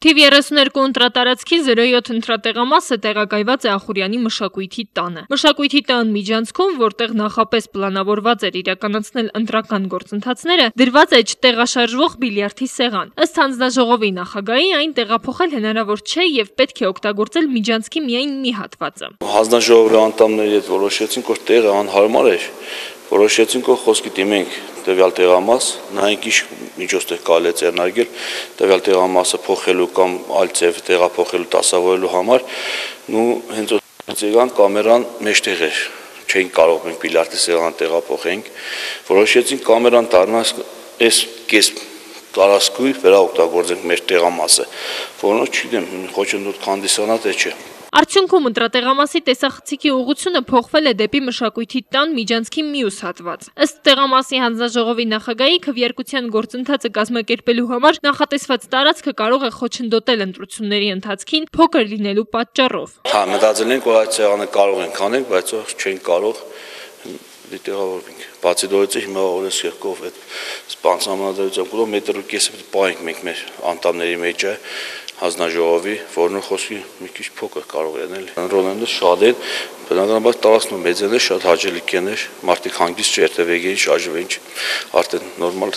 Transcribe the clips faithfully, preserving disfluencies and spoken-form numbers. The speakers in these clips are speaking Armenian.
Թիվ երեսուներկու ընտրատարածքի զրո յոթ ընտրատեղամասը տեղակայված է Ախուրյանի մշակույթի տանը։ Մշակույթի տան միջանցքում, որտեղ նախապես պլանավորված էր իրականացնել ընտրական գործընթացները, դրված է չտեղաշարժվող բիլիարդի սեղան։ Ըստ հանձնաժողովի նախագահի, այն տեղափոխել հնարավոր չէ եւ պետք է օգտագործել միջանցքի միայն մի հատվածը։ Հանձնաժողովի անդամների հետ որոշեցինք, որ տեղը անհարմար էր, որոշեցինք, որ խոսքի դիմենք տվյալ տեղամաս, նայենք ինչ միջոցներ կարելի է ձեռնարկել տվյալ տեղամասը փոխելու կամ այլ ձև տեղափոխելու դասավորելու համար, ու հենց եկան կամերան մեջտեղ էր, չէինք կարող մենք բիլիարդի սեղան տեղափոխենք, որոշեցինք կամերան դառնալ այս կես տարածքույր վերաօգտագործենք մեր տեղամասը, որոնց չգիտեմ, խոչընդոտ կհանդիսանա թե չէ։ Արդյունքում ընտրատեղամասի տեսախցիկի ուղղությունը փոխվել է դեպի մշակույթի տան միջանցքի մյուս հատված։ Ըստ տեղամասի հանձնաժողովի նախագահի, քվեարկության գործընթացը կազմակերպելու համար նախատեսված տարածքը կարող է խոչընդոտել ընտրությունների ընթացքին փոքր լինելու պատճառով։ Հա, մտածել ենք, որ այդ սեղանը կարող ենք անենք, բայց չենք կարող դիտեղավորվենք։ Բացի դրանից հիմա օրես երկով այդ սպանսամանադրությամբ կողմ մետր ու կեսը պետք է պահենք մենք մեր անդամների մեջ է հանձնաժողովի, որն խոսքի մի քիչ փոքր կարող է լինել։ Ընտրողները շատ են, բնականաբար տարածքն մեծ են, շատ հաճելի կներ, մարդիկ հանգիստ չերթևեկեն, շարժվեն, արդեն նորմալ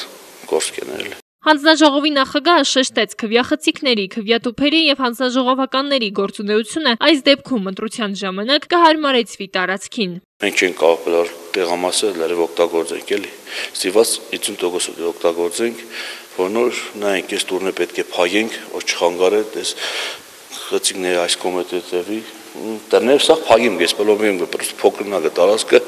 գործ կներել։ Հանձնաժողովի նախագահը շեշտեց քվեախցիկների, քվեատուփերի եւ հանձնաժողովականների գործունեությունը այս դեպքում ընտրության ժամանակ կհարմարեցվի տարածքին։ Մենք չենք կարող տեղամասը լրիվ օգտագործենք, էլի։ Ստիված հիսուն տոկոս օգտագործենք, որնոր նայենք այս տուրնը պետք է փայենք, որ չխանգարե այս խցիկները այս կոմետետևի, դեռներ սա փայեմ, ես բլոմեմ, պրոստը փոքրնա տարածքը։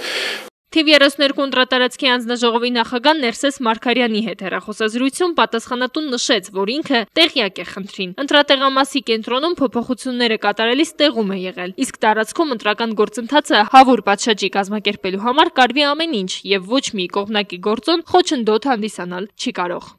Թիվ երեսուներկու ընտրատարածքի հանձնաժողովի նախագահ Ներսես Մարգարյանի հետ հեռախոսազրույցում պատասխանատուն նշեց, որ ինքը տեղյակ է խնդրին։ Ընտրատեղամասի կենտրոնում փոփոխությունները կատարելիս տեղում է եղել, իսկ տարածքում ընտրական գործընթացը հավուր պատշաճի կազմակերպելու համար կարվի ամեն ինչ եւ ոչ մի կողմնակի գործոն խոչընդոտ հանդիսանալ չի կարող։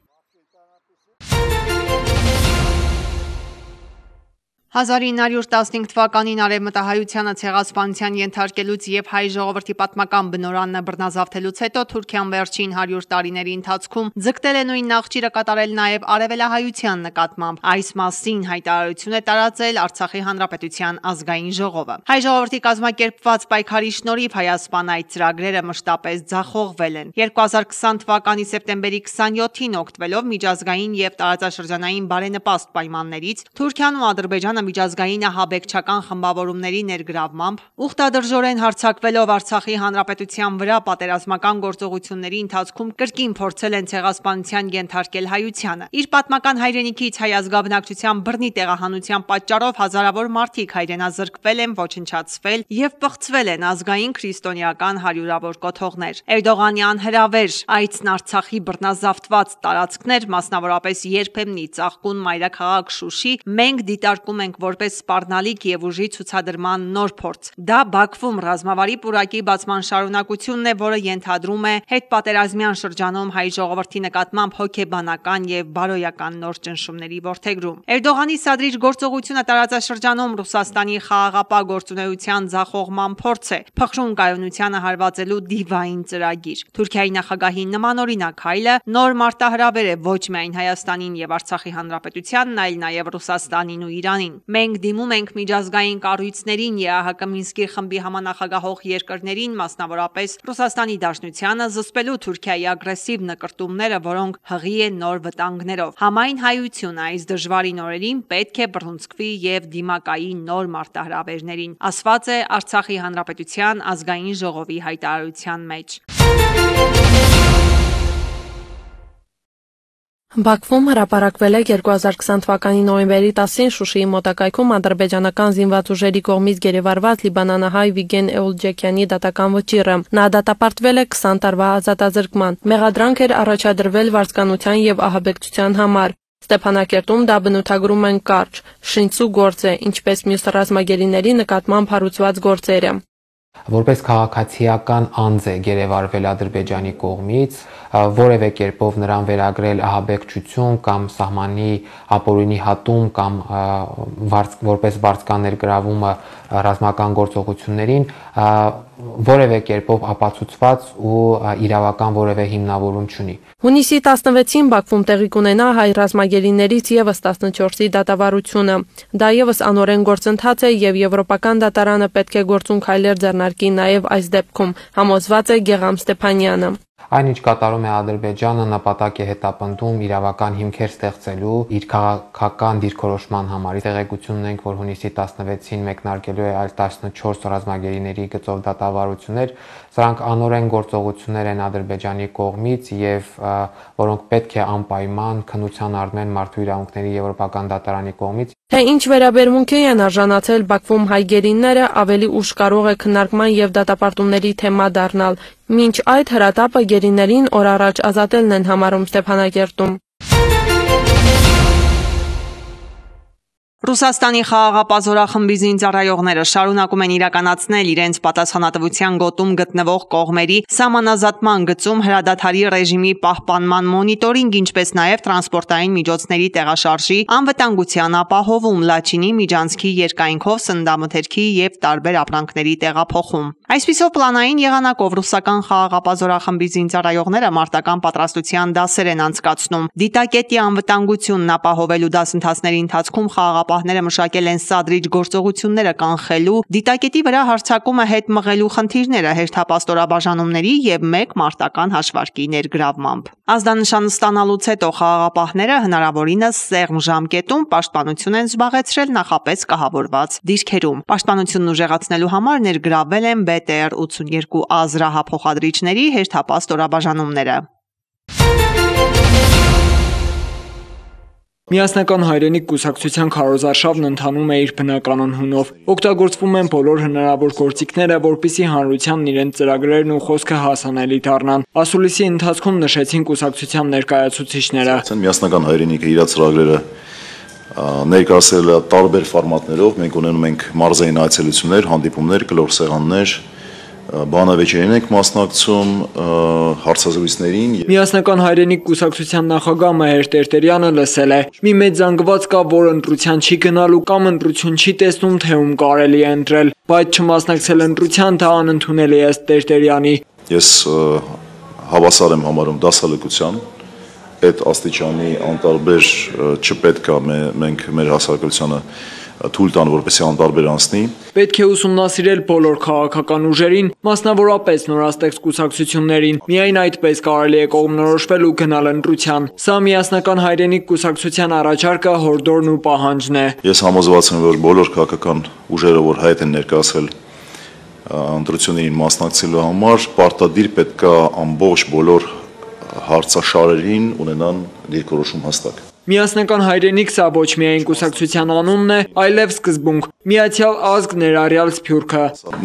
հազար ինը հարյուր տասնհինգ թվականին արևմտահայությանը ցեղասպանության ենթարկելուց եւ հայ ժողովրդի պատմական բնորանը բռնազավթելուց հետո Թուրքիան վերջին հարյուր տարիների ընթացքում ձգտել է նույն նախճիրը կատարել նաեւ արևելահայության նկատմամբ։ Այս մասին հայտարարություն է տարածել Արցախի հանրապետության ազգային ժողովը։ Հայ ժողովրդի կազմակերպված պայքարի շնորհիվ Հայաստան այդ ծրագրերը մշտապես ձախողվել են։ երկու հազար քսան թվականի սեպտեմբերի քսանյոթին օգտվելով միջազգային եւ տարածաշրջանային բարենպաստ պայմաններից Թուրքիան ու Ադրբեջանը միջազգային ահաբեկչական խմբավորումների ներգրավմամբ ուխտադրժորեն հարձակվելով Արցախի հանրապետության վրա պատերազմական գործողությունների ընթացքում կրկին փորձել են ցեղասպանության ենթարկել հայությանը։ Իր պատմական հայրենիքից հայ ազգաբնակչության բռնի տեղահանության պատճառով հազարավոր մարդիկ հայրենազրկվել են, ոչնչացվել եւ պղծվել են ազգային քրիստոնեական հարյուրավոր կոթողներ։ Էրդողանի անհրավեր այցն Արցախի բռնազավթված տարածքներ, մասնավորապես երբեմնի ծաղկուն մայրաքաղաք Շուշի, մենք դիտարկում ենք որպես սպառնալիք եւ ուժի ցուցադրման նոր փորձ։ Դա Բաքվում ռազմավարի պուրակի բացման շարունակությունն է, որը ենթադրում է հետպատերազմյան շրջանում հայ ժողովրդի նկատմամբ հոգեբանական եւ բարոյական նոր ճնշումների որդեգրում։ Էրդողանի սադրիչ գործողությունը տարածաշրջանում Ռուսաստանի խաղաղապահ գործունեության ձախողման փորձ է, փխրուն կայունությանը հարվածելու դիվային ծրագիր։ Թուրքիայի նախագահի նմանօրինակ հայլը նոր մարտահրավեր է ոչ միայն Հայաստանին եւ Արցախի հանրապետությանն, այլ նաեւ Ռուսաստանին ու Իրանին։ Մենք դիմում ենք միջազգային կառույցներին, ԵԱՀԿ Մինսկի խմբի համանախագահող երկրներին, մասնավորապես Ռուսաստանի Դաշնությանը, զսպելու Թուրքիայի ագրեսիվ նկրտումները, որոնք հղի են նոր վտանգներով։ Համայն հայությունը այս դժվարին օրերին պետք է բռունցքվի եւ դիմակայի նոր մարտահրավերներին, ասված է Արցախի հանրապետության ազգային ժողովի հայտարարության մեջ։ Բաքվում հրապարակվել է երկու հազար քսան թվականի նոյեմբերի տասին Շուշիի մոտակայքում ադրբեջանական զինված ուժերի կողմից գերեվարված լիբանանահայ Վիգեն Էուլջեքյանի դատական վճիռը։ Նա դատապարտվել է քսան տարվա ազատազրկման։ Մեղադրանք էր առաջադրվել վարձկանության եւ ահաբեկչության համար։ Ստեփանակերտում դա բնութագրում են կարճ, շինցու գործ է, ինչպես մյուս ռազմագերիների նկատմամբ հարուցված գործերը։ Որպես քաղաքացիական անձ է գերեվարվել Ադրբեջանի կողմից, որևէ կերպով նրան վերագրել ահաբեկչություն կամ սահմանի ապօրինի հատում կամ որպես վարձկաներ գրավումը ռազմական գործողություններին, որևէ կերպով ապացուցված ու իրավական որևէ հիմնավորում չունի։ Հունիսի տասնվեցին Բաքվում տեղի կունենա հայ ռազմագերիներից եւս տասնչորսի դատավարությունը։ Դա եւս անօրեն գործընթաց է եւ Եվրոպական դատարանը պետք է գործուն քայլեր ձեռնարկի նաեւ այս դեպքում, համոզված է Գեգամ Ստեփանյանը։ Այն, ինչ կատարում է Ադրբեջանը, նպատակ է հետապնդում իրավական հիմքեր ստեղծելու իր քաղաքական դիրքորոշման համար։ Տեղեկություն ունենք, որ հունիսի տասնվեցին մեկնարկելու է այլ տասնչորս ռազմագերիների գծով դատավարություններ։ Սրանք անօրեն գործողություններ են Ադրբեջանի կողմից եւ որոնք պետք է անպայման քննության առնեն Մարդու իրավունքների Եվրոպական դատարանի կողմից։ Թե ինչ վերաբերմունքի են արժանացել Բաքվում հայ գերիները, ավելի ուշ կարող է քննարկման եւ դատապարտումների թեմա դառնալ։ Մինչ այդ հրատապը գերիներին օր առաջ ազատելն են համարում Ստեփանակերտում։ Ռուսաստանի խաղաղապազորախմբի զինծառայողները շարունակում են իրականացնել իրենց պատասխանատվության գոտում գտնվող կողմերի սահմանազատման գծում հրադադարի ռեժիմի պահպանման մոնիտորինգ, ինչպես նաև տրանսպորտային միջոցների տեղաշարժի անվտանգության ապահովում, Լաչինի միջանցքի երկայնքով սննդամթերքի եւ տարբեր ապրանքների տեղափոխում։ Այսպիսով պլանային եղանակով ռուսական խաղաղապազորախմբի զինծառայողները մարտական պատրաստության դասեր են անցկացնում։ Դիտակետի անվտանգությունն ապահովելու դասընթացների ընթացքում խաղաղապահները մշակել են սադրիչ գործողությունները կանխելու, դիտակետի վրա հարձակումը հետ մղելու խնդիրները հերթապաստորաբաժանումների եւ մեկ մարտական հաշվարկի ներգրավմամբ։ Ազդանշան ստանալուց հետո խաղաղապահները հնարավորինս սեղմ ժամկետում պաշտպանություն են զբաղեցրել նախապես կահավորված դիրքերում։ Պաշտպանությունն ուժեղացնելու համար ներգրավվել են B T R ութսունյոթ A զրահափոխադրիչների հերթապաստորաբաժանումները։ Միասնական հայրենիք կուսակցության քարոզարշավն ընթանում է իր բնականon հունով։ Օգտագործվում են բոլոր հնարավոր գործիքները, որպեսզի հանրությանն իրենց ծրագրերն ու խոսքը հասանելի դառնան։ Ասուլիսի ընթացքում նշեցին կուսակցության ներկայացուցիչները։ Միասնական հայրենիքը իր ծրագրերը ներկայացրել է տարբեր ֆորմատներով։ Մենք ունենում ենք մարզային այցելություններ, հանդիպումներ, կլոր սեղաններ, բանավեճերին ենք մասնակցում, հարցազրույցներին։ Միասնական հայրենիք կուսակցության նախագահ Մհեր Տերտերյանը լսել է. «Մի մեծ զանգված կա, որ ընտրության չի գնալու կամ ընտրություն չի տեսնում, թե ում կարելի է ընտրել, բայց չմասնակցել ընտրության դա անընդունելի է ըստ Տերտերյանի»։ Ես հավասար եմ համարում դասալքության, այդ աստիճանի անտարբեր չպետք է մենք մեր հասարակությանը թույլ տան, որպեսզի անտարբեր անցնի։ Պետք է ուսումնասիրել բոլոր քաղաքական ուժերին, մասնավորապես նորաստեղծ կուսակցություններին։ Միայն այդպես կարելի է կողմնորոշվել ու գնալ ընտրության։ Սա միասնական հայրենիք կուսակցության առաջարկը, հորդորն ու պահանջն է։ Ես համոզված եմ, որ բոլոր քաղաքական ուժերը, որ հայտ են ներկայացրել ընտրություններին մասնակցելու համար, պարտադիր պետք է ամբողջ բոլոր հարցաշարերին ունենան դիրքորոշում հստակ։ Միասնական հայրենիք սա ոչ միայն կուսակցության անունն է, այլև սկզբունք։ Միացյալ ազգ ներառյալ Սփյուռքը։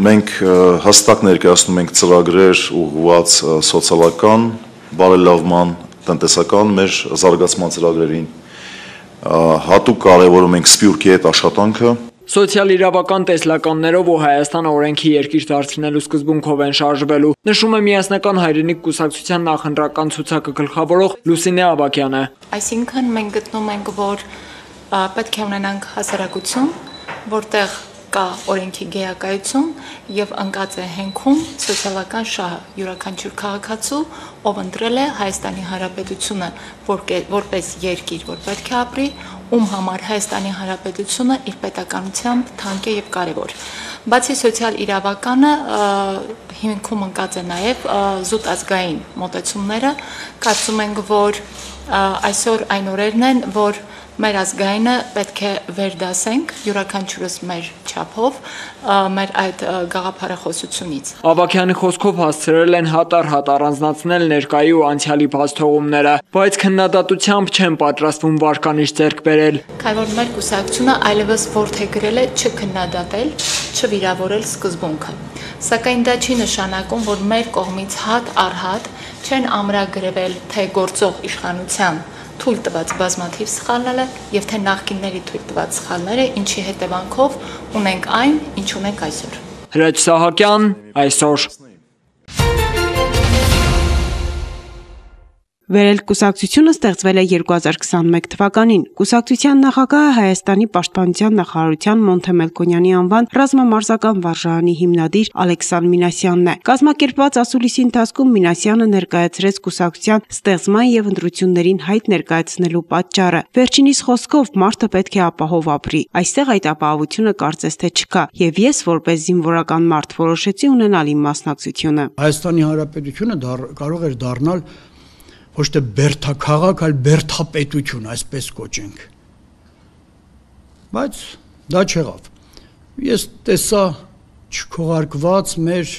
Մենք հստակ ներկայացնում ենք ծրագրեր ուղղված սոցիալական բարելավման, տնտեսական մեր զարգացման ծրագրերին։ Հատուկ կարևորում ենք Սփյուռքի հետ աշխատանքը։ Սոցիալ-իրավական տեսլականներով ու Հայաստանը օրենքի երկիր դարձնելու սկզբունքով են շարժվելու, նշում է միասնական հայրենիք կուսակցության նախընտրական ցուցակը գլխավորող Լուսինե Ավագյանը։ Այսինքն մենք գտնում ենք, որ պետք է ունենանք հասարակություն, որտեղ կա օրենքի գեակայություն եւ ընկած է հենքում սոցիալական շահը, յուրաքանչյուր քաղաքացու, ով ընտրել է Հայաստանի Հանրապետությունը որպես երկիր, որ պետք է ապրի, ում համար Հայաստանի Հանրապետությունը իր պետականությամբ թանկ է եւ կարեւոր։ Բացի սոցիալ իրավականը հիմքում ընկած է նաեւ զուտ ազգային մոտեցումները, կարծում ենք, որ այսօր այն օրերն են, որ մեր ազգայինը պետք է վերդասենք յուրաքանչյուրս մեր չափով մեր այդ գաղափարախոսությունից։ Ավագյանի խոսքով հասցրել են հատառ-հատ առանձնացնել ներկայի ու անցյալի բացթողումները, բայց քննադատությամբ չեն պատրաստվում վարկանիշ ձեռք բերել։ Քանի որ մեր կուսակցությունը այլևս որդեգրել է չքննադատել, չվիրավորել սկզբունքը։ Սակայն դա չի նշանակում, որ մեր կողմից հատ առ հատ չեն ամրագրվել թե գործող իշխանության թույլ տված բազմաթիվ սխալները եւ թե նախկինների թույլ տված սխալները, ինչի հետևանքով ունենք այն, ինչ ունենք այսօր։ Հրաչ Սահակյան, այսօր։ Վերելք կուսակցությունը ստեղծվել է երկու հազար քսաներեք թվականին։ Կուսակցության նախագահը Հայաստանի պաշտպանության նախարարության Մոնթե Մելքոնյանի անվան ռազմամարզական վարժարանի հիմնադիր Ալեքսան Մինասյանն է։ Կազմակերպված ասուլիսի ընթացքում Մինասյանը ներկայացրեց կուսակցության ստեղծման եւ ընտրություններին հայտ ներկայացնելու պատճառը։ Վերջինիս խոսքով մարդը պետք է ապահով ապրի։ Այստեղ այդ ապահովությունը կարծես թե չկա, եւ ես որպես զինվորական մարդ որոշեցի ունենալ իմ մասնակցությունը։ Հայաստանի Հանրապետությունը կարող էր դառնալ ոչ թե բերդաքաղաք, այլ բերդապետություն, այսպես կոչենք։ Բայց դա չեղավ։ Ես տեսա չքողարկված մեր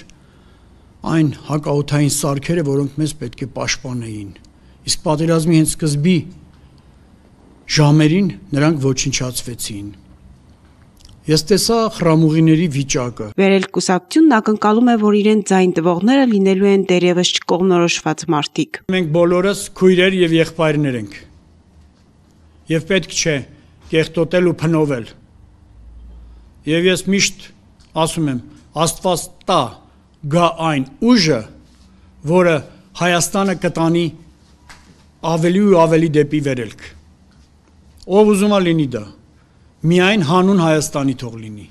այն հակաօդային սարքերը, որոնք մեզ պետք է պաշտպանեին։ Իսկ պատերազմի հենց սկզբի ժամերին նրանք ոչնչացվեցին։ Ես տեսա խրամուղիների վիճակը։ Վերելք կուսակցությունն ակնկալում է, որ իրեն ձայն տվողները լինելու են դերևս չկողմնորոշված մարդիկ։ Մենք բոլորս քույրեր եւ եղբայրներ ենք։ Եվ պետք չէ կեղտոտել ու փնովել։ Եվ ես միշտ ասում եմ, Աստված տա գա այն ուժը, որը Հայաստանը կտանի ավելի ու ավելի դեպի վերելք։ Ով ուզում է լինի դա։ Միայն հանուն Հայաստանի թող լինի։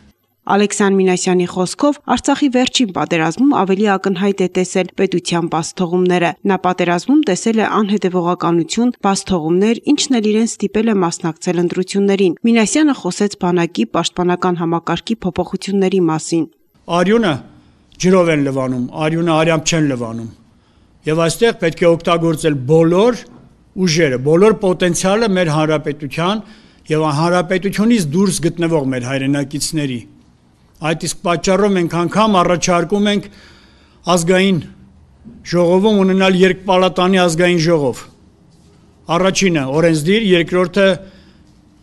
Ալեքսան Մինասյանի խոսքով Արցախի վերջին պատերազմում ավելի ակնհայտ է տեսել պետության բացթողումները։ Նա պատերազմում տեսել է անհետևողականություն, բացթողումներ, ինչն էլ իրեն ստիպել է մասնակցել ընտրություններին։ Մինասյանը խոսեց բանակի պաշտպանական համակարգի փոփոխությունների մասին։ Արյունը ջրով են լվանում, արյունը արյամբ չեն լվանում։ Եվ այստեղ պետք է օգտագործել բոլոր ուժերը, բոլոր պոտենցիալը մեր հանրապետության եւ հանրապետությունից դուրս գտնվող մեր հայրենակիցների։ Այդ իսկ պատճառով մենք անգամ առաջարկում ենք ազգային ժողովում ունենալ երկպալատանի ազգային ժողով։ Առաջինը օրենսդիր, երկրորդը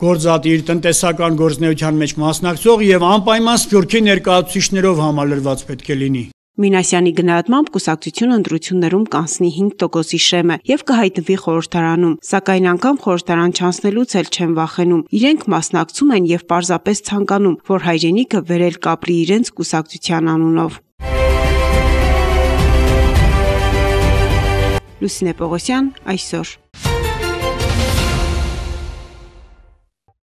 գործադիր տնտեսական գործունեության մեջ մասնակցող եւ անպայման սփյուռքի ներկայացուցիչներով համալրված պետք է լինի։ Մինասյանի գնահատմամբ կուսակցությունը ընտրություններում կանցնի հինգ տոկոսի շեմը եւ կհայտնվի խորհրդարանում, սակայն անգամ խորհրդարան չանցնելուց էլ չեն վախենում։ Իրենք մասնակցում են եւ պարզապես ցանկանում, որ հայրենիքը վերել կապրի իրենց կուսակցության անունով։ Լուսինե Պողոսյան, այսօր։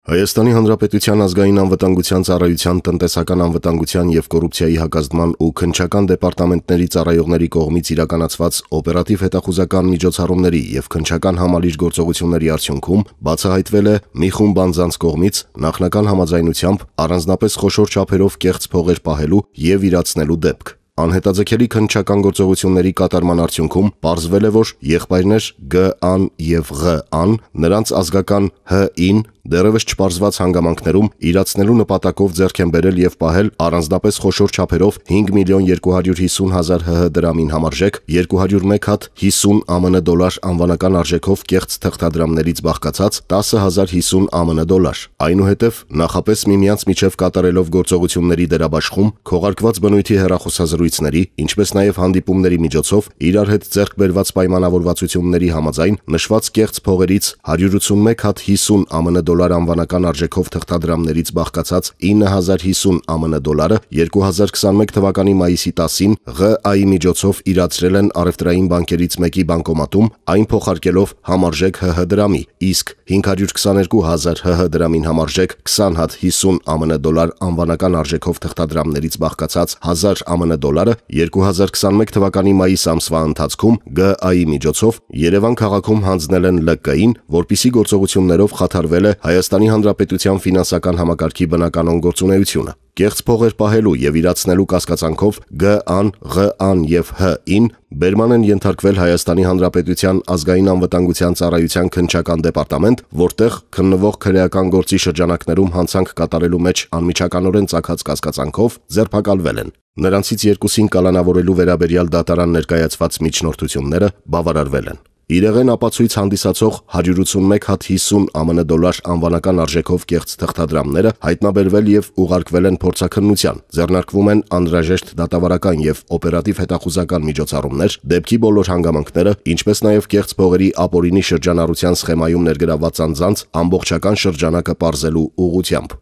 Հայաստանի Հանրապետության ազգային անվտանգության ծառայության տնտեսական անվտանգության եւ կոռուպցիայի հակազդման ու քննչական դեպարտամենտների ծառայողների կողմից իրականացված օպերատիվ հետախուզական միջոցառումների եւ քննչական համալիր գործողությունների արդյունքում բացահայտվել է մի խումբ անձանց կողմից նախնական համաձայնությամբ առանձնապես խոշոր չափերով կեղծ փողեր պահելու եւ իրացնելու դեպք։ Անհետաձգելի քննչական գործողությունների կատարման արդյունքում պարզվել է, որ եղբայրներ Գ-ան եւ Ղ-ան նրանց ազգական Հ-ին դեռևս չպարզված հանգամանքներում իրացնելու նպատակով ձեռք են բերել եւ պահել առանձնապես խոշոր չափերով հինգ միլիոն երկու հարյուր հիսուն հազար Հ Հ դրամին համարժեք երկու հարյուր մեկ հատ հիսուն Ա Մ Ն դոլար անվանական արժեքով կեղծ թղթադրամներից բաղկացած տասը հազար հիսուն Ա Մ Ն դոլար։ Այնուհետև նախապես միմյանց միջև կատարելով գործողությունների դերաբաշխում, քողարկված բնույթի հեռախոսազրույցների, ինչպես նաեւ հանդիպումների միջոցով իրար հետ ձեռք բերված պայմանավորվածությունների համաձայն նշված կեղծ փողերից հարյուր ութսունմեկ հատ հիսուն Ա Մ Ն դոլար անվանական արժեքով թղթադրամներից բաղկացած ինը հազար հիսուն Ա Մ Ն դոլարը երկու հազար քսաներեք թվականի մայիսի տասին Ղ-այի միջոցով իրացրել են առևտրային բանկերից մեկի բանկոմատում, այն փոխարկելով համարժեք Հ Հ դրամի, իսկ հինգ հարյուր քսաներկու հազար Հ Հ դրամին համարժեք քսան հատ հիսուն Ա Մ Ն դոլար անվանական արժեքով թղթադրամներից բաղկացած հազար Ա Մ Ն դոլարը երկու հազար քսաներեք թվականի մայիս ամսվա ընթացքում Գ-այի միջոցով Երևան քաղաքում հանձնել են Л Կ-ին, որպիսի գործողություններով խաթարվել է Հայաստանի Հանրապետության ֆինանսական համակարգի բնականոն գործունեությունը։ Կեղծ փողեր պահելու եւ իրացնելու կասկածանքով Գ-ան, Ղ-ան եւ Հ-ին բերման են ենթարկվել Հայաստանի Հանրապետության ազգային անվտանգության ծառայության քննչական դեպարտամենտ, որտեղ քննվող քրեական գործի շրջանակներում հանցանք կատարելու մեջ անմիջականորեն ծագած կասկածանքով ձերբակալվել են։ Նրանցից երկուսին կալանավորելու վերաբերյալ դատարան ներկայացված միջնորդությունները բավարարվել են։ Իրեղեն ապացույց հանդիսացող հարյուր ութսունմեկ հատ հիսուն Ա Մ Ն դոլար անվանական արժեքով կեղծ թղթադրամները հայտնաբերվել եւ ուղարկվել են փորձաքննության։ Ձեռնարկվում են անհրաժեշտ դատավարական եւ օպերատիվ հետախուզական միջոցառումներ, դեպքի բոլոր հանգամանքները, ինչպես նաեւ կեղծ փողերի ապօրինի շրջանառության սխեմայում ներգրավված անձանց ամբողջական շրջանակը պարզելու ուղղությամբ։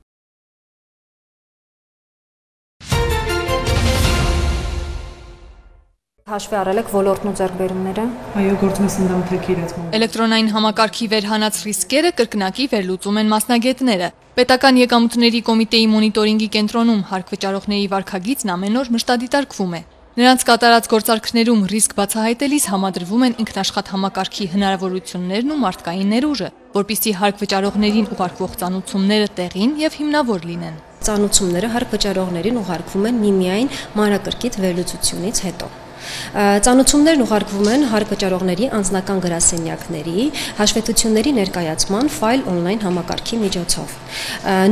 Հաշվի առել եք ոլորտն ու ձեռքբերումները։ Այո, գործում է սնդամթերքի իրացման։ Էլեկտրոնային համակարգի վերհանած ռիսկերը կրկնակի վերլուծում են մասնագետները։ Պետական եկամուտների կոմիտեի մոնիտորինգի կենտրոնում հարկվճարողների վարքագիծն ամեն օր մշտադիտարկվում է։ Նրանց կատարած գործարքներում ռիսկ բացահայտելիս համադրվում են ինքնաշխատ համակարգի հնարավորություններն ու մարդկային ներուժը, որպեսզի հարկվճարողներին ուղարկվող ծանուցումները տեղին եւ հիմնավոր լինեն։ Ծանուցումները հարկվճարողներին ուղարկվում են միմիայն մանրակրկիտ վերլուծությունից հետո։ Ծանուցումներն ուղարկվում են հարկվճարողների անձնական գրասենյակների, հաշվետվությունների ներկայացման ֆայլ օնլայն համակարգի միջոցով։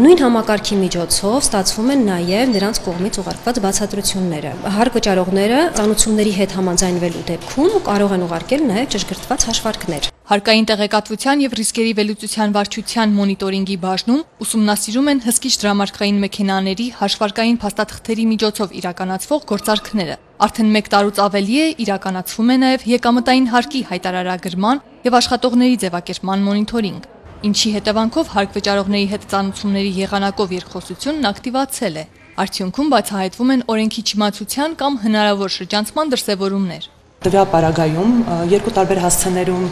Նույն համակարգի միջոցով ստացվում են նաև նրանց կողմից ուղարկված բացատրությունները։ Հարկվճարողները ծանուցումների հետ համաձայնվելու դեպքում կարող են ուղարկել նաև ճշգրտված հաշվարկներ։ Հարկային տեղեկատվության եւ ռիսկերի վերլուծության վարչության մոնիտորինգի բաժնում ուսումնասիրում են հսկիչ դրամարկղային մեքենաների հաշվարկային փաստաթղթերի միջոցով իրականացվող գործարքները։ Արդեն մեկ տարուց ավելի է իրականացվում է նաև եկամտային հարկի հայտարարագրման եւ աշխատողների ձևակերպման մոնիտորինգ, ինչի հետևանքով հարկվճարողների հետ ծանուցումների եղանակով երկխոսությունն ակտիվացել է։ Արդյունքում բացահայտվում են օրենքի չիմացության կամ հնարավոր շրջանցման դրսևորումներ։ Տվյալ պարագայում երկու տարբեր հասցեներում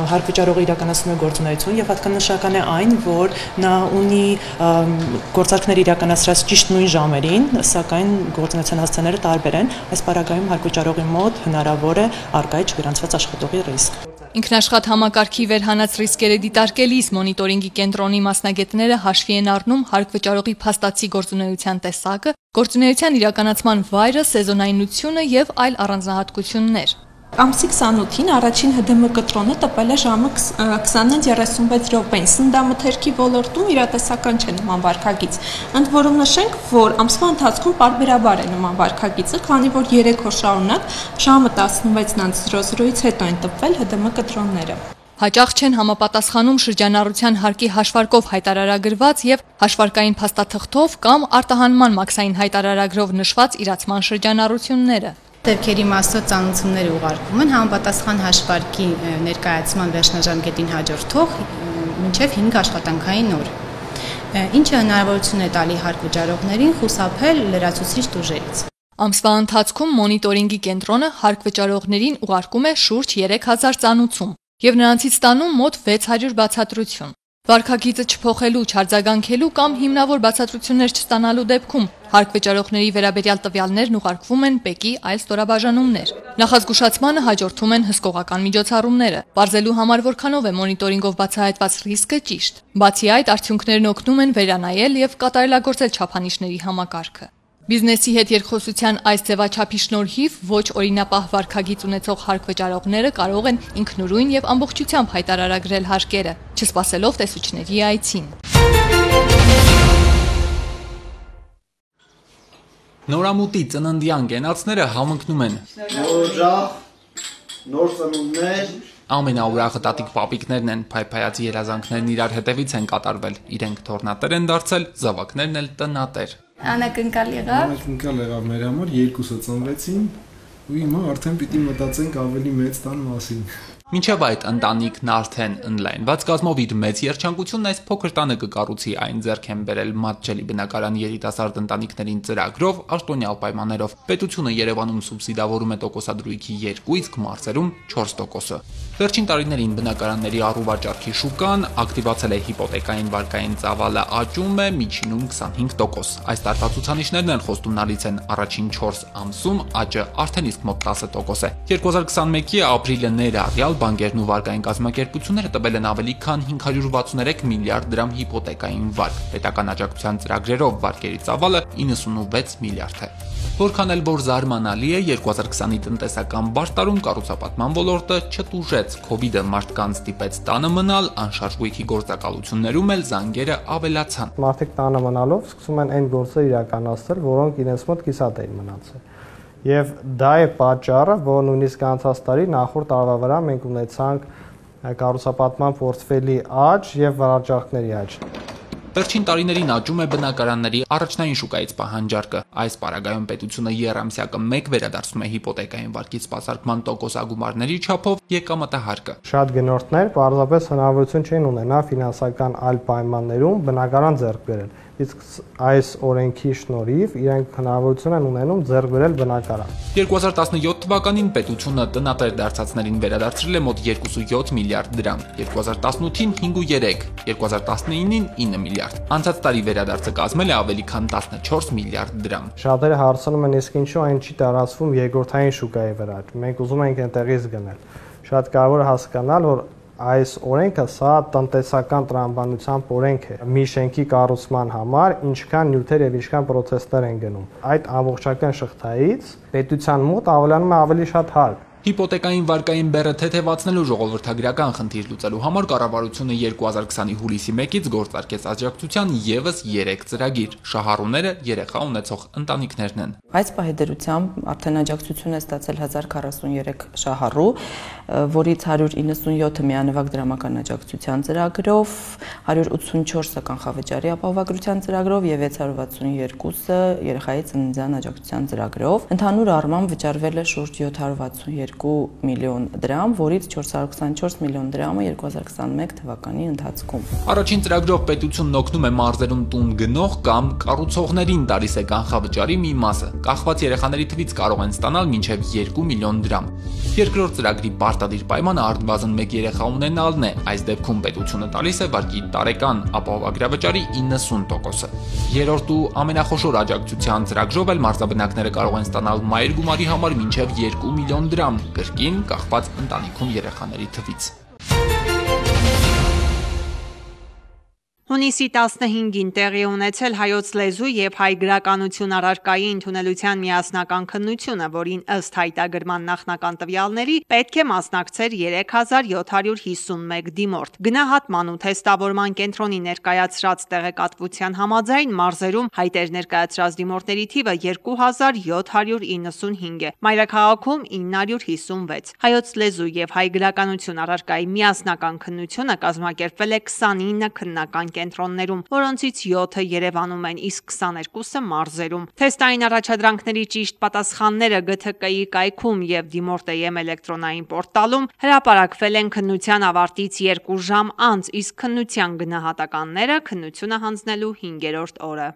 հարկվճարողը իրականացնում է գործունեություն եւ հատկանշական է այն, որ նա ունի գործարքներ իրականացրած ճիշտ նույն ժամերին, սակայն գործունեության հասցեները տարբեր են։ Այս պարագայում հարկվճարողի մոտ հնարավոր է առկա է չգրանցված աշխատողի ռիսկ։ Ինքնաշխատ համակարգի վերհանած ռիսկերը դիտարկելիս մոնիտորինգի կենտրոնի մասնագետները հաշվի են առնում հարկվճարողի փաստացի գործունեության տեսակը, գործունեության իրականացման վայրը, սեզոնայնությունը եւ այլ առանձնահատկություններ։ Ամսի քսանութին առաջին Հ Դէ Մ կտրոնը տպել է ժամը քսանից երեսունվեց րոպեին։ Սննդամթերքի ոլորտում իրատեսական չէ նման վարքագիծ։ Ընդ որում նշենք, որ ամսվա ընթացքում պարբերաբար է նման վարքագիծը, քանի որ երեք օր շարունակ ժամը տասնվեցից հետո են տպվել Հ Դէ Մ կտրոնները։ Հաճախ չեն համապատասխանում շրջանառության հարկի հաշվարկով հայտարարագրված եւ հաշվարկային փաստաթղթով կամ արտահանման մաքսային հայտարարագրով նշված իրացման շրջանառությունները։ Դեպքերի մասով ծանուցումները ուղարկվում են համապատասխան հաշվարկի ներկայացման վերջնաժամկետին հաջորդող մինչև հինգ աշխատանքային օր, ինչը հնարավորություն է տալի հարկվճարողներին խուսափել լրացուցիչ տուժերից։ Ամսվա ընթացքում մոնիտորինգի կենտրոնը հարկվճարողներին ուղարկում է շուրջ երեք հազար ծանուցում եւ նրանցից ստանում մոտ վեց հարյուր բացատրություն։ Վարքագիծը չփոխելու, չարձագանքելու կամ հիմնավոր բացատրություններ չստանալու դեպքում հարկվճարողների վերաբերյալ տվյալներն ուղարկվում են ՊԵԿ-ի այլ ստորաբաժանումներ։ Նախազգուշացմանը հաջորդում են հսկողական միջոցառումները, բարձելու համար որքանով է մոնիտորինգով բացահայտված ռիսկը ճիշտ։ Բացի այդ, արդյունքներն օգնում են վերանայել եւ կատարելագործել չափանիշների համակարգը։ Բիզնեսի հետ երկխոսության այս ձևաչափի շնորհիվ ոչ օրինապահ վարքագիծ ունեցող հարկվճարողները կարող են ինքնուրույն եւ ամբողջությամբ հայտարարագրել հարկերը, չսպասելով տեսուչների այցին։ Նորամուտի ծննդյան գենացները համընկնում են։ Նոր ծնունդներ ամենաուրախը տատիկ պապիկներն են, փայփայած երազանքներն իրար հետևից են կատարվել, իրենք թորնատեր են դարձել, զավակներն էլ տնատեր։ Անակնկալ եղավ։ Անակնկալ եղավ մեր համար, երկուսը ծնվեցին ու հիմա արդեն պիտի մտածենք ավելի մեծ տան մասին։ Մինչև այդ ընտանիքն արդեն ընդլայնված կազմով իր մեծ երջանկությունն այս փոքր տանը կկառուցի, այն ձեռք են բերել Մատչելի բնակարան երիտասարդ ընտանիքներին ծրագրով, աշտոնյալ պայմաններով։ Պետությունը Երևանում սուբսիդավորում է տոկոսադրույքի երկու, իսկ մարզերում չորս տոկոսը։ Վերջին տարիներին բնակարանների առուվաճառքի շուկան ակտիվացել է հիպոթեկային վարկային ծավալը աճում է միջինում քսանհինգ տոկոս։ Այս տարվա ցուցանիշներն են խոստումնալից են, առաջին չորս ամսում աճը արդեն իսկ մոտ տասը տոկոս է։ երկու հազար քսանմեկի ապրիլը ներառյալ բանկերն ու վարկային կազմակերպությունները տվել են ավելի քան հինգ հարյուր վաթսուներեք միլիարդ դրամ հիպոթեկային վարկ։ Պետական աջակցության ծրագրերով վարկերի ծավալը իննսունվեց միլիարդ է։ Որքան էլ որ զարմանալի է, երկու հազար քսանի տնտեսական բարդարում կառուցապատման ոլորտը չտուժեց, քովիդը մարդկանց ստիպեց տանը մնալ, անշարժույթի գործակալություններում էլ զանգերը ավելացան։ Մարդիկ տանը մնալով սկսում են այն գործեր իրականացնել, որոնք իրենց մոտ կիսատ էին մնացել։ Եվ դա է պատճառը, որ նույնիսկ անցած տարի նախորդ տարվա վրա մենք ունեցանք կառուցապատման պորտֆելի աճ եւ վարաճառքների աճ։ Վերջին տարիներին աճում է բնակարանների առաջնային շուկայից պահանջարկը։ Այս պարագայում պետությունը եռամսյակը մեկ վերադարձնում է հիպոթեկային վարկից սպասարկման տոկոսագումարների չափով եկամտահարկը։ Շատ գնորդներ պարզապես հնարավորություն չեն ունենա ֆինանսական այլ պայմաններում բնակարան ձեռք բերել։ իսկ այս օրենքի շնորհիվ իրենք հնարավորություն են ունենում ձեռք բերել բնակարան։ երկու հազար տասնյոթ թվականին պետությունը տնատեր դարձածներին վերադարձրել է մոտ երկուսույոթ միլիարդ դրամ, երկու հազար տասնութին հինգուերեք, երկու հազար տասնինին ինը միլիարդ։ Անցած տարի վերադարձը կազմել է ավելի քան տասնչորս միլիարդ դրամ։ Շատերը հարցնում են, իսկ ինչու այն չի տարածվում երկրորդային շուկայի վրա։ Մենք ուզում ենք այնտեղից գնել։ Շատ կարևոր է հասկանալ, որ այս օրենքը սա տնտեսական տրամաբանությամբ օրենք է մի շենքի կառուցման համար, ինչքան նյութեր եւ ինչքան պրոցեսներ են գնում։ Այդ ամբողջական շղթայից պետության մոտ ավելանում է ավելի շատ հարկ։ Հիպոթեկային վարկային բեռը թեթևացնելու ժողովրդագրական խնդիր լուծելու համար կառավարությունը երկու հազար քսանի հուլիսի մեկից գործարկեց աջակցության ևս երեք ծրագիր։ Շահառուները երեխա ունեցող ընտանիքներն են։ Այս պահի դրությամբ արդեն աջակցություն է ստացել հազար քառասուներեք շահառու, որից հարյուր իննսունյոթը միանվագ դրամական աջակցության ծրագրով, հարյուր ութսունչորսը կանխավճարի ապահովագրության ծրագրով եւ վեց հարյուր վաթսունյոթը երեխայի ծննդյան աջակցության ծրագրով։ Ընդհանուր առմամբ վճարվել է շուրջ յոթ հարյուր վաթսունյոթ միլիոն դրամ, որից չորս հարյուր քսանչորս միլիոն դրամը երկու հազար քսանմեկ թվականի ընթացքում։ Առաջին ծրագրով պետությունն օգնում է մարզերում տուն գնող կամ կառուցողներին տալիս է կանխավճարի մի մասը։ Կախված երեխաների թվից կարող են ստանալ մինչև երկու միլիոն դրամ։ Երկրորդ ծրագրի պարտադիր պայմանը առնվազն մեկ երեխա ունենալն է։ Այս դեպքում պետությունը տալիս է վարկի տարեկան ապահովագրավճարի իննսուն տոկոսը։ Երրորդ ու ամենախոշոր աջակցության ծրագրով էլ մարզաբնակները կարող են ստանալ մայր գումարի համար մինչև երկու միլիոն դրամ, կրկին կախված ընտանիքում երեխաների թվից։ Հունիսի տասնհինգին տեղի ունեցել հայոց լեզու եւ հայ գրականություն առարկայի ընդունելության միասնական քննությունը, որին ըստ հայտագրման նախնական տվյալների պետք է մասնակցեր երեք հազար յոթ հարյուր հիսունմեկ դիմորդ։ Գնահատման ու թեստավորման կենտրոնի ներկայացրած տեղեկատվության համաձայն մարզերում հայտեր ներկայացրած դիմորդների թիվը երկու հազար յոթ հարյուր իննսունհինգ է, մայրաքաղաքում ինը հարյուր հիսունվեց։ Հայոց լեզու եւ հայ գրականություն առարկայի միասնական քննությունը կազմակերպվել է քսանինը քննական կենտրոններում, որոնցից յոթը Երևանում են, իսկ քսաներկուսը մարզերում։ Թեստային առաջադրանքների ճիշտ պատասխանները Գ Թ Կ-ի կայքում եւ Դիմորդ.am էլեկտրոնային պորտալում հրապարակվել են քննության ավարտից երկու ժամ անց, իսկ քննության գնահատականները քննությունը հանձնելու հինգերորդ օրը։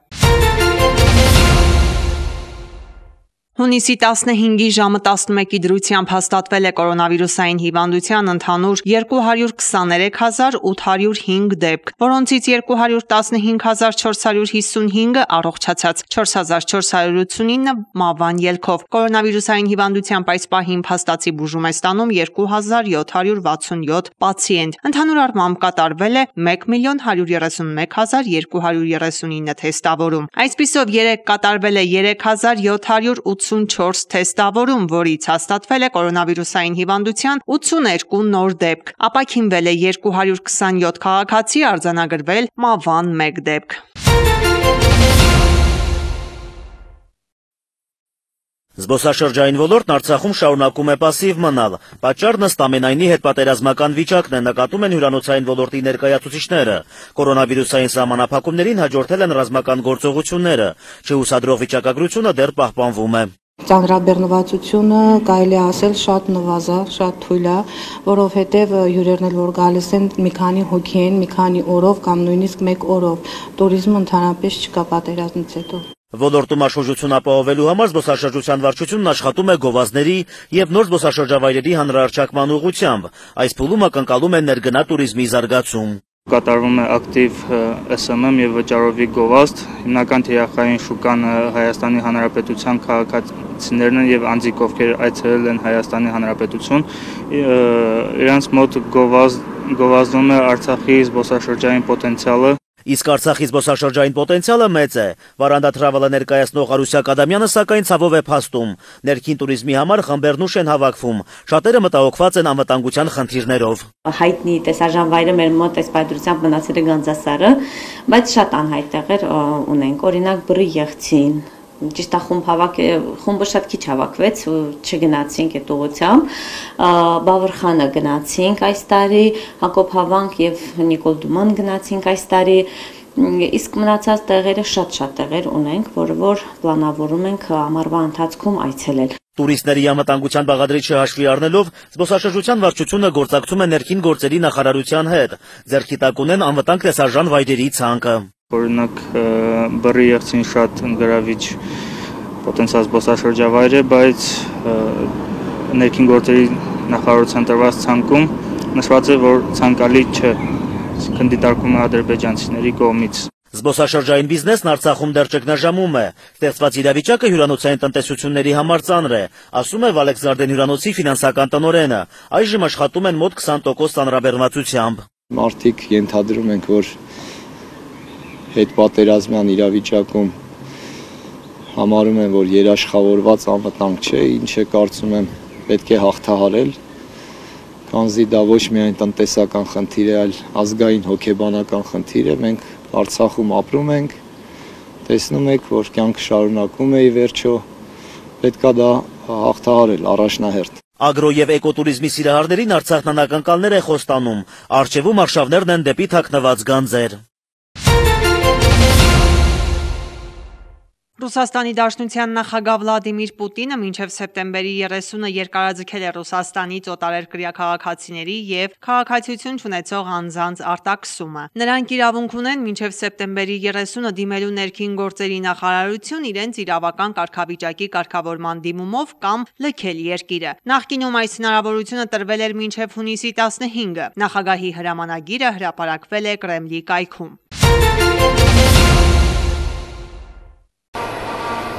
Հունիսի տասնհինգի ժամը տասնմեկի դրությամբ հաստատվել է կորոնավիրուսային հիվանդության ընդհանուր երկու հարյուր քսաներեք հազար ութ հարյուր հինգ դեպք, որոնցից երկու հարյուր տասնհինգ հազար չորս հարյուր հիսունհինգը առողջացած, չորս հազար չորս հարյուր ութսունինը մահվան ելքով։ Կորոնավիրուսային հիվանդությամբ այս պահին փաստացի բուժում է ստանում երկու հազար յոթ հարյուր վաթսունյոթ պացիենտ։ Ընդհանուր առմամբ կատարվել է մեկ միլիոն հարյուր երեսունմեկ հազար երկու հարյուր երեսունինը թեստավորում։ Այսպիսով երեկ կատարվել է երեք հազար յոթ հարյուր ութսունչորս թեստավորում, որից հաստատվել է կորոնավիրուսային հիվանդության ութսուներկու նոր դեպք։ Ապաքինվել է երկու հարյուր քսանյոթ քաղաքացի, արձանագրվել մահվան մեկ դեպք։ Զբոսաշրջային ոլորտն Արցախում շարունակում է պասիվ մնալ։ Պատճառն ըստ ամենայնի հետպատերազմական վիճակն է, նկատում են հյուրանոցային ոլորտի ներկայացուցիչները։ Կորոնավիրուսային սահմանափակումներին հաջորդել են ռազմական գործողությունները։ Չհուսադրող վիճակագրությունը դեռ պահպանվում է։ Ծանրաբեռնվածությունը կարելի է ասել շատ նվազա, շատ թույլ է, որովհետև հյուրերն էլ որ գալիս են մի քանի հոգի են, մի քանի օրով կամ նույնիսկ մեկ օրով։ Տուրիզմը ընդհանրապես չկա պատերազմից հետո։ Ոլորտում աշխուժություն ապահովելու համար զբոսաշրջության վարչությունն աշխատում է գովազդների եւ նոր զբոսաշրջավայրերի հանրահռչակման ուղղությամբ։ Այս փուլում ակնկալում են ներգնա տուրիզմի զարգացում։ Կատարվում է ակտիվ Էս Էմ Էմ եւ վճարովի գովազդ, հիմնական թիրախային շուկան Հայաստանի Հանրապետության քաղաքացիներն են եւ անձիկ, ովքեր այցելել են Հայաստանի Հանրապետություն, իրանց մոտ գովազդ գովազդում է Արցախի զբոսաշրջային պոտենցիալը։ Իսկ Արցախի զբոսաշրջային պոտենցիալը մեծ է։ Վարանդա Թրավելը ներկայացնող Արուսյակ Ադամյանը սակայն ցավով է փաստում։ Ներքին տուրիզմի համար խմբերն ուշ են հավաքվում։ Շատերը մտահոգված են անվտանգության խնդիրներով։ Հայտնի տեսարժանվայրը մեր մոտ այս պայծրությամբ մնացել է Գանձասարը, բայց շատ անհայտ տեղեր ունենք, օրինակ Բռի Եղցին։ Ճիշտ է, խումբ հավաք խումբը շատ քիչ հավաքվեց, չգնացինք այդ ուղղությամբ, Բավրխանը գնացինք այս տարի, Հակոբ Հավանք եւ Նիկոլ Դուման գնացինք այս տարի, իսկ մնացած տեղերը շատ-շատ տեղեր ունենք, որը որ պլանավորում ենք ամառվա ընթացքում այցելել։ Տուրիստների անվտանգության բաղադրիչը հաշվի առնելով զբոսաշրջության վարչությունը գործակցում է ներքին գործերի նախարարության հետ։ Ձեռքի տակ ունեն անվտանգ տեսարժան վայրերի ցանկը։ Օրինակ բռի եղցին շատ գրավիչ պոտենցիալ զբոսաշրջավայր է, բայց ներքին գործերի նախարարության տրված ցանկում նշված է, որ ցանկալի չէ, այսինքն դիտարկում է ադրբեջանցիների կողմից։ Զբոսաշրջային բիզնեսն Արցախում դեռ ճգնաժամում է։ Ստեղծված իրավիճակը հյուրանոցային տնտեսությունների համար ծանր է, ասում է Վալեք Զարդեն հյուրանոցի ֆինանսական տնօրենը։ Այժմ աշխատում են մոտ քսան տոկոս ծանրաբեռնվածությամբ։ Մարդիկ ենթադրում ենք, որ հետպատերազմյան իրավիճակում համարում են, որ երաշխավորված անվտանգ չէ, ինչը կարծում եմ պետք է հաղթահարել, քանզի դա ոչ միայն տնտեսական խնդիր է, այլ ազգային հոգեբանական խնդիր է։ Մենք Արցախում ապրում ենք, տեսնում եք, որ կյանքը շարունակում է ի վերջո, պետքա դա հաղթահարել առաջնահերթ։ Ագրո եւ էկոտուրիզմի սիրահարներին Արցախն անակնկալներ է խոստանում, առջևում արշավներն են դեպի թաքնված գանձեր։ Ռուսաստանի Դաշնության նախագահ Վլադիմիր Պուտինը մինչև սեպտեմբերի երեսունը երկարաձգել է Ռուսաստանից օտարերկրյա քաղաքացիների եւ քաղաքացիություն չունեցող անձանց արտաքսումը։ Նրանք իրավունք ունեն մինչև սեպտեմբերի երեսունը դիմելու ներքին գործերի նախարարություն իրենց իրավական կարգավիճակի կարգավորման դիմումով կամ լքել երկիրը։ Նախկինում այս հնարավորությունը տրվել էր մինչև հունիսի տասնհինգը։ Նախագահի հրամանագիրը հրապարակվել է Կրեմլի կայքում։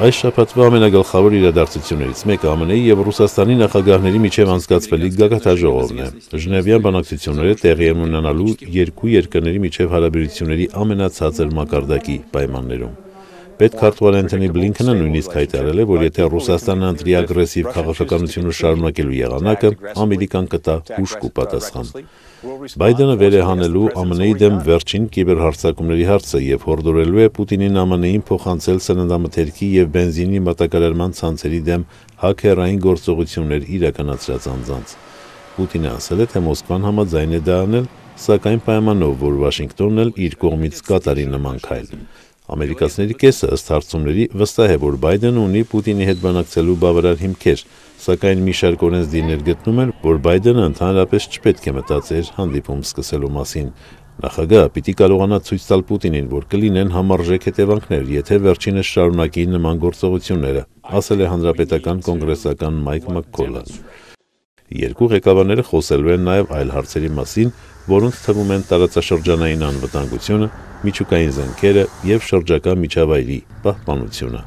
Այս շաբաթվա ամենագլխավոր իրադարձություններից մեկը ԱՄՆ -ի եւ Ռուսաստանի նախագահների միջև անցկացվելիք գագաթաժողովն է։ Ժնևյան բանակցությունները տեղի են ունենալու երկու երկրների միջև հարաբերությունների ամենացածր մակարդակի պայմաններում։ Պետքարտուղար Անթոնի Բլինքենը նույնիսկ հայտարարել է, որ եթե Ռուսաստանը ընտրի ագրեսիվ քաղաքականությունը շարունակելու եղանակը, Ամերիկան կտա հուժկու պատասխան։ Բայդենը վեր է հանելու ԱՄՆ-ի դեմ վերջին կիբերհարձակումների հարցը եւ հորդորելու է Պուտինին ԱՄՆ-ին փոխանցել սննդամթերքի եւ բենզինի մատակարարման ցանցերի դեմ հաքերային գործողություններ իրականացրած անձանց։ Պուտինը ասել է, թե Մոսկվան համաձայն է դա անել, սակայն պայմանով, որ Վաշինգտոնն էլ իր կողմից կատարի նման քայլ։ Ամերիկացիների կեսը ըստ հարցումների վստահ է, որ Բայդենը ունի Պուտինի հետ բանակցելու բավարար հիմքեր, սակայն մի շարք օրենսդիրներ գտնում են, որ Բայդենը ընդհանրապես չպետք է մտածեր հանդիպում սկսելու մասին։ Նախագահը պիտի կարողանա ցույց տալ Պուտինին, որ կլինեն համարժեք հետևանքներ, եթե վերջինս շարունակի նման գործողությունները, ասել է հանրապետական կոնգրեսական Մայք Մաքքոլը։ Երկու ղեկավարները խոսելու են նաև այլ հարցերի մասին, որոնց թվում են տարածաշրջանային անվտանգությունը, միջուկային զենքերը եւ շրջակա միջավայրի պահպանությունը։